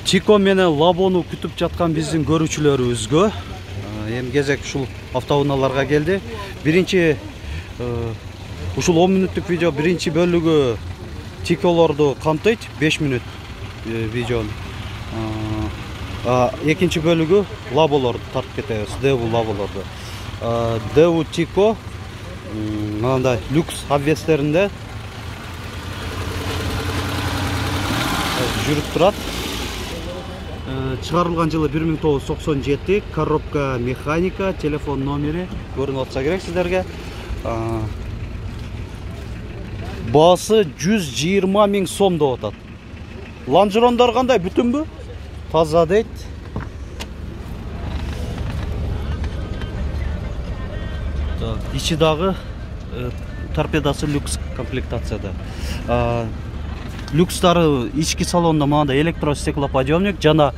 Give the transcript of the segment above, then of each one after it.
Тико менен Лабону күтүп жаткан биздин көрүүчүлөрүбүзгө эми кезек ушул автоунааларга келди. Биринчи ушул 10 мүнөттүк видео биринчи бөлүгү Тиколорду камтыйт, 5 мүнөт видеону. Экинчи бөлүгү Лаболорду тартып кетебиз, Деву Лаболорду. Деву Тико мындай люкс обвестеринде жүрүп турат. Чыгарылган жылы 1997, коробка механика, телефон номери көрүнүп атса керек сиздерге. Баасы 120 000 сом деп атат. Лонжерондор кандай, бүтүнбү? Таза дейт. Ичи дагы торпедасы люкс комплектацияда. Люкстары ички салонда мындай электростеклоподъемник жана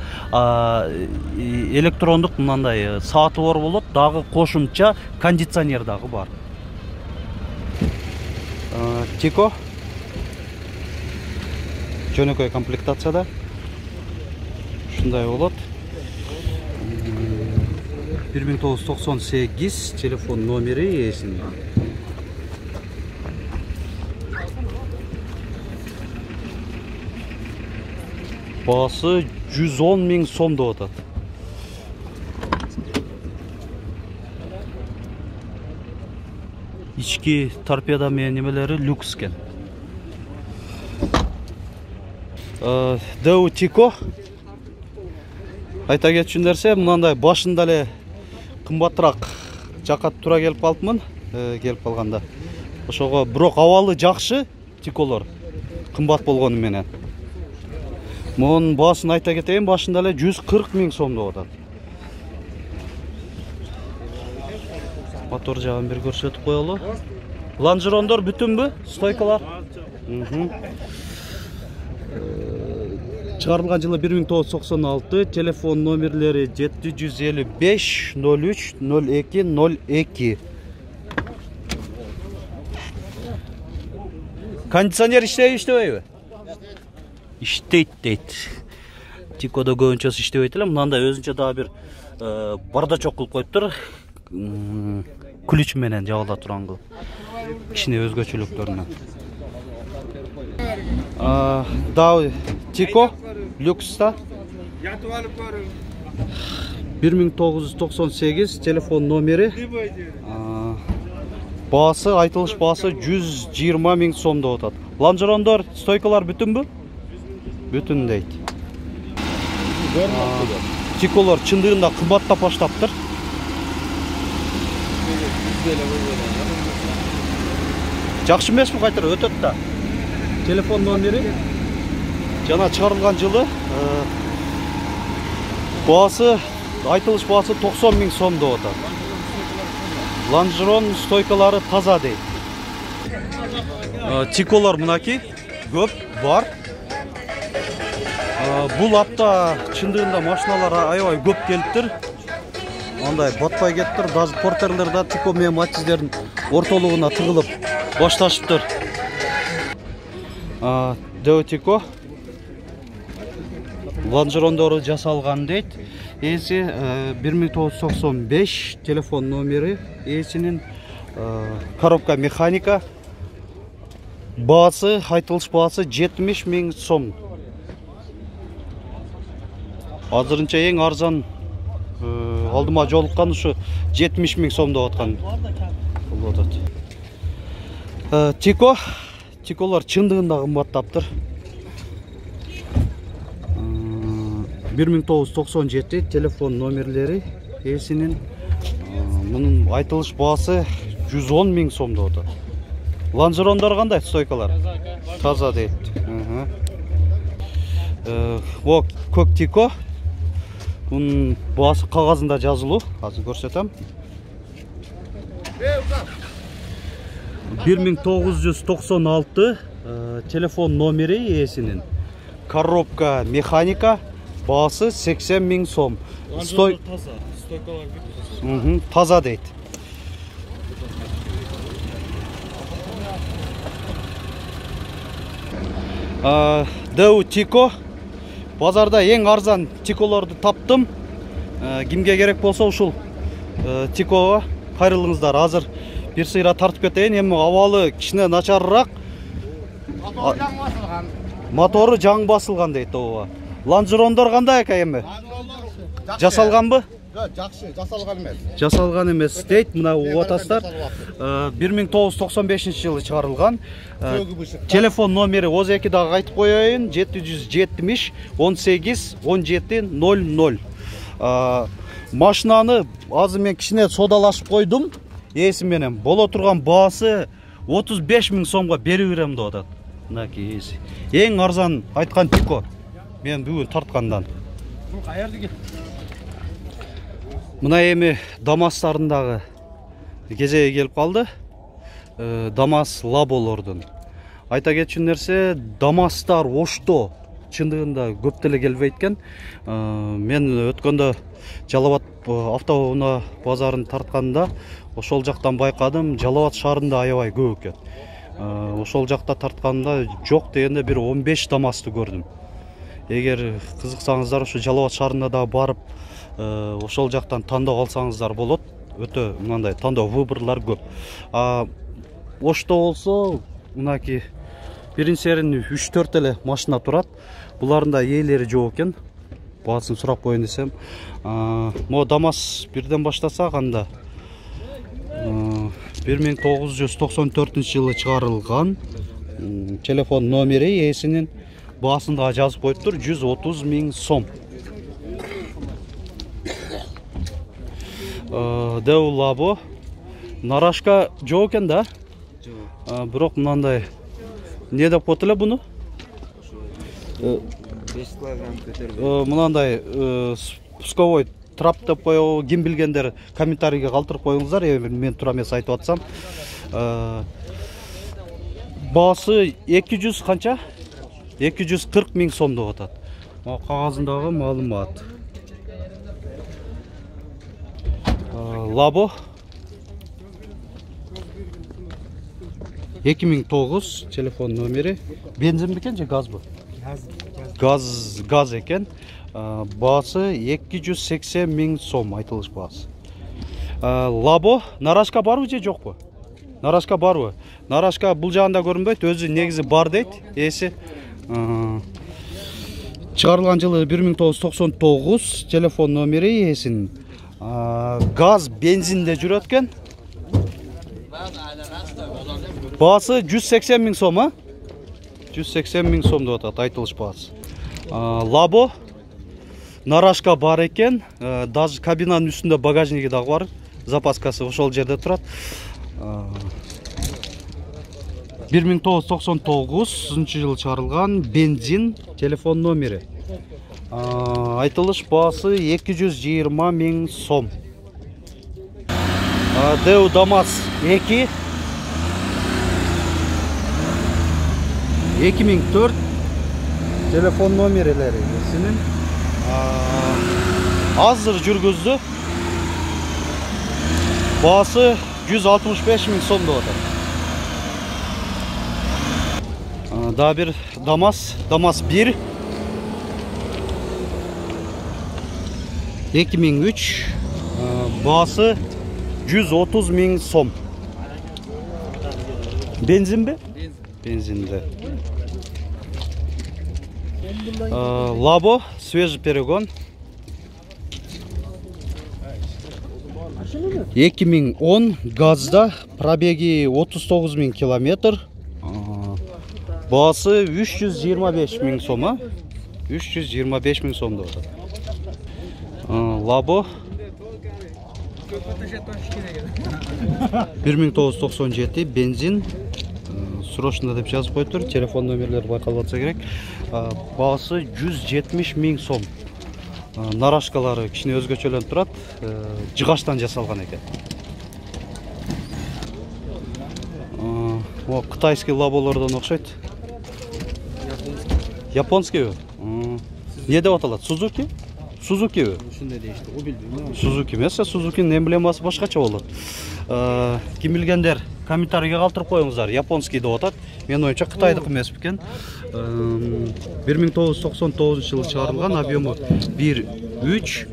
электрондук мындай сааты бар болот, дагы кошумча кондиционер дагы бар. Тико жөнөкөй комплектацияда ушундай болот. 1998 телефон номери ээсинин. Баасы 110 000 сом деп атат. Ички торпеда менен немелери люкс экен. Деву Тико айта кетчү нерсе, мындай башында эле кымбатыраак жакат тура келип калыпмын, келип калганда. Ошого бирок абалы жакшы Тиколор, кымбат болгону менен. Монун баасын айта кетейин, башында эле 140 000 сом деп атат. Мотор жагын бир көрсөтүп коелу. Лонжерондор бүтүнбү? Стойкалар. Чыгарылган жылы 1996, телефон номерлери 755 03 02 02. Кондиционер иштейби? Иштейт дейт. Тикодо көбүнчөсү иштебейт эле, мындай өзүнчө дагы бир бардачок кылып коюптур. Ключ менен жабыла турган кылып. Кичине өзгөчөлүктөрүнөн. Дагы Тико люкста 1998 телефон номери. Баасы, айтылыш баасы 120 000 сом деп атат. Лонжерондор, стойкалар бүтүнбү? Бүтүн дейт. Тиколор чындыгында кымбаттап баштаптыр. Жакшы эмеспи, кайтара өтөт да. Телефон номери жана чыгарылган жылы баасы, айтылыш баасы 90 000 сом деп атат. Лонжерон стойкалары таза дейт. Тиколор мынаки көп бар. Бул апта чындыгында машиналар аябай көп келиптир. Андай батпай кеттир, даже портерлер да Тико менен Матиздердин ортолугуна тыгылып башташыптыр. Деву Тико лонжерондору жасалган дейт. Ээси 1995, телефон номери ээсинин, коробка механика. Баасы, айтылыш баасы 70 000 сом. Азырынча эң арзан алдыма жолуккан ушу 70 000 сом деп аткан болот. Тиколор чындыгында кымбаттаптыр. 1997 телефон номерлери ээсинин, мунун айтылыш баасы 110 000 сом деп атат. Лонжерондор кандай, стойкалар? Таза дейт. Көк Тико. Бунун баасы кагазында жазылуу, азыр көрсөтөм. 1996 телефон номери ээсинин, коробка механика, баасы 80 000 сом. Таза, стойкалар бүт. Таза дейт. Деву Тико базарда эң арзан тиколорду таптым. Кимге керек болсо ушул тикого кайрылыңыздар. Азыр бир сыйра тартып кетейин. Эми абалы кичине начарыраак. Мотору жаң басылган дейт ооба. Лонжерондор кандай экен эми? Жасалганбы? Жакшы, жасалган эмес. Жасалган эмес дейт. Мына угатасыздар. 1995-жылы чыгарылган. Телефон номери озеки дагы айтып коеюн. 770 18 17 00. Машинаны азыр мен кичине содалашып койдум. Ээси менен боло турган баасы 35 000 сомго берип берем деп атат. Мынаки ээси. Эң арзан айткан тико. Мен бүгүн тарткандан. Бул каердики? Мына эми Дамастарындагы кезеги келип калды. Дамас лаболордун. Айта кетчү нерсе, Дамастар Ошто чындыгында көп деле келбейт экен. Мен өткөндө Жалал Абад автоунаа базарын тартканда ошол жактан байкадым, Жалал Абад шаарында аябай көп экен. Ошол жакта тартканда жок дегенде бир 15 Дамасты көрдүм. Эгер кызыксаңыздар, ушу Жалал Абад шаарына да барып, ошол жактан тандап алсаңыздар болот. Өтө мындай тандоо выборлар көп. Ошто болсо, мынаки биринчерин 3-4 эле машина турат. Булардын да ээлери жок экен. Баасын сурап коеюн десем. Мо Дамас бирден баштасак анда 1994-жылы чыгарылган. Телефон номери ээсинин баасында жазып коюптур, 130 000 сом. Деу лабо. Нарашка жок экен да? Жок. Бирок мынандай не деп коет эле буну? 5 килограмм көтөрбөй. Мынандай пусковой трап деп коебу, ким билгендер комментарийге калтырып коюңуздар. Мен туура эмес айтып атсам. Баасы 200 канча? 240 000 сом деп атат. Кагазындагы маалымат. Лабо 2009 телефон номери. Бензин бекен же газбы? Газ экен. Баасы 280 000 сом айтылыш баасы. Лабо нарашка барбы же жокпу? Нарашка барбы? Нарашка бул жагында көрүнбөйт, өзү негизи бар дейт. Эси чыгарылган жылы 1999, телефон номери ээсинин. Газ, бензинде жүрөт экен. Баасы 180 000 сом, 180 000 сом деп атат айтылыш баасы. Лабо нарашка бар экен. Даже кабинанын үстүндө багажниги дагы бар. Запаскасы ошол жерде турат. 1999-жылы чыгарылган, бензин, телефон номери. Айтылыш баасы 220 000 сом. Деу Дамас 2 2004 телефон номерлери синин азыр жүргүздү. Баасы 165 000 сом деп атат. Да бир Дамас 1 2003, баасы 130 000 сом. Бензинби? Бензинде. Лабо свежий перегон 2010, газда, пробеги 39 000 километр. Баасы 325 000 сом, 325 000 сом деп атат. Лабо 1997, бензин, срочно деп жазып коюптур, телефон номерлери байкалып атса керек. Баасы 170 000 сом. Нарашкалары кичине өзгөчөлөнүп турат, жыгачтан жасалган экен. Кытайский лаболордон окшойт. Японскийби? Не деп аталат? Сузуки? Сузукиби? Ушундай дейишти, го билбейм. Сузуки эмес, Сузукинин эмблемасы башкача болот. Ким билгендер комментарийге калтырып коюңуздар. Японский деп атат. Мен оюнча Кытайдык эмес бекен. 1999-жылы чыгарылган, объему 1.3.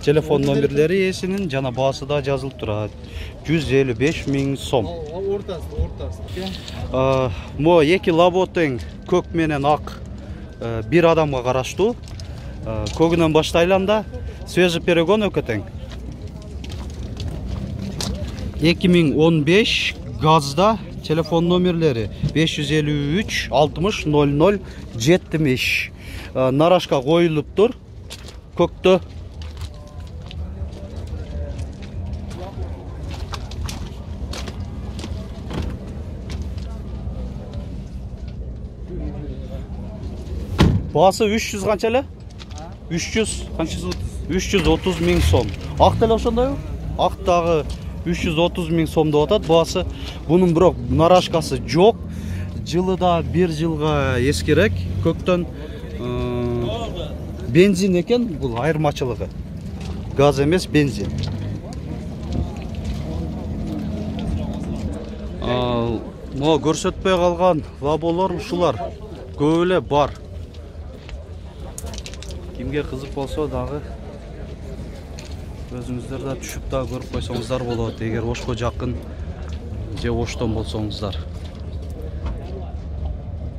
Телефон номерлери ээсинин жана баасы да жазылып турат. 155 000 сом. Мо эки лаботең көк менен ак бир адамга караштуу. Көгүнөн баштайлы анда свежий перегон өкөтең. 2015 газда телефон номерлери 553 60 00 70. Нарашка коюлуптур көктө. Баасы 300 канча эле? 300 канча? 330 000 сом. Ак деле ошондойбу? Ак дагы 330 000 сом деп атат баасы. Бунун бирок нарашкасы жок. Жылы да 1 жылга эскирек. Көктөн бензин экен, бул айырмачылыгы. Газ эмес, бензин. Mo көрсөтпөй калган лаболор ушулар. Көп эле бар. Кимге кызык болсо дагы өзүңүздөр да түшүп да көрүп койсоңуздар болот, эгер Ошко жакын же Оштон болсоңуздар.